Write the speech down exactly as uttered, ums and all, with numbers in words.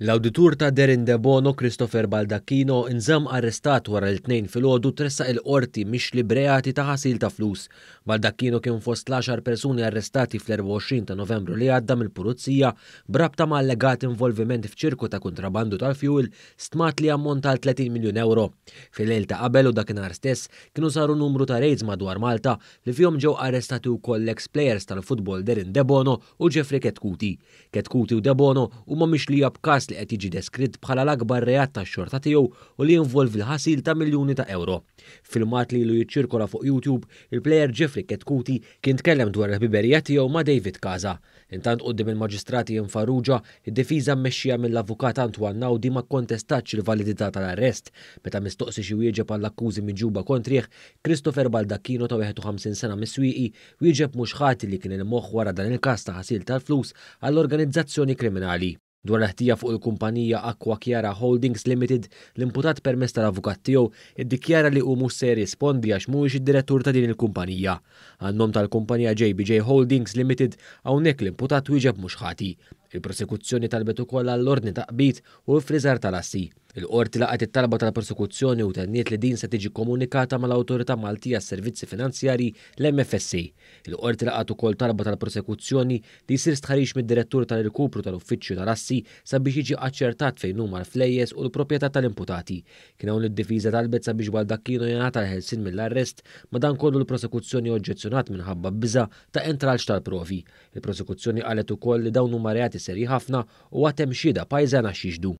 L-awditur ta' Darren Debono, Christopher Baldacchino, inżamm arrestat wara li t-Tnejn filgħodu tressaq il-Qorti mixli b'reati ta' ħasil ta' flus. Baldacchino kien fost l-għaxar persuni arrestati fl-erbgħa u għoxrin ta' Novembru li għadda mill-Pulizija b'rabta ma' allegat involviment f'ċirku ta' kontrabandu tal-fuel stmat li ammonta għal tletin miljun euro. Fil-lejl ta' qabel u dakinhar stess kienu saru numru ta' raids madwar Malta li fihom ġew arrestati wkoll l-ex players tal-futbol Darren Debono u Jeffrey Chetcuti. Chetcuti u Debono huma mixlija b'każ li qed jiġi deskritt bħala l-akbar reat tax-xorta tiegħu u li jinvolvi l-ħasil ta' miljuni ta' euro. Filmat li ilu jiċċirkola fuq YouTube, il-plejer Jeffrey Chetcuti kien tkellem dwar il-ħbiberija tiegħu ma' David Casa. Intant quddiem il-maġistrati Farrugia, id-difiża mmexxija mill-avukat Antoine Naudi ma kkontestatx il-validità tal-arrest. Meta mistoqsi xi wieġeb għall-akkużi miġjuba kontrih, Christopher Baldacchino ta' wieħed u ħamsin sena mis-Swieqi wieġeb mhux ħati li kien il-moħħ wara dan il-każ ta' ħasil tal-flus għall-organizzazzjoni kriminali. Dwar l-ħtija fuq il-kumpanija Aqua Chiara Holdings Limited, l-imputat permezz tal-avukat tiegħu iddikjara li hu mhux se jirrispondi għax mhuwiex id-direttur ta' din il-kumpanija. Għan-nom tal-kumpanija J B J Holdings Limited, hawnhekk l-imputat wieġeb mhux ħati. Il-prosekuzzjoni talbet ukoll għall-ordni ta' qbid u friżar tal-assi. Il-qorti laqgħet it-talba tal-prosekuzzjoni u tenniet li din se tiġi komunikata mal-Awtorità Maltija għas-Servizzi Finanzjarji, l-M F S A. Il-qorti laqgħet ukoll talba tal-prosekuzzjoni li jsir stħarriġ mid-direttur tal-irkupru tal-Uffiċċju tal-Assi sabiex jiġi aċċertat fejn huma l-flejjes u l-proprjetà tal-imputati. Kien hawn id-difiża talbet sabiex Baldacchino jingħata l-ħelsien mill-arrest, madankollu l-prosekuzzjoni oġġezzjonat minħabba biża ta' intralċ tal-provi. Il-prosekuzzjoni qalet ukoll li dawn huma reati serji ħafna u għad hemm xhieda pajżana x'jixhdu.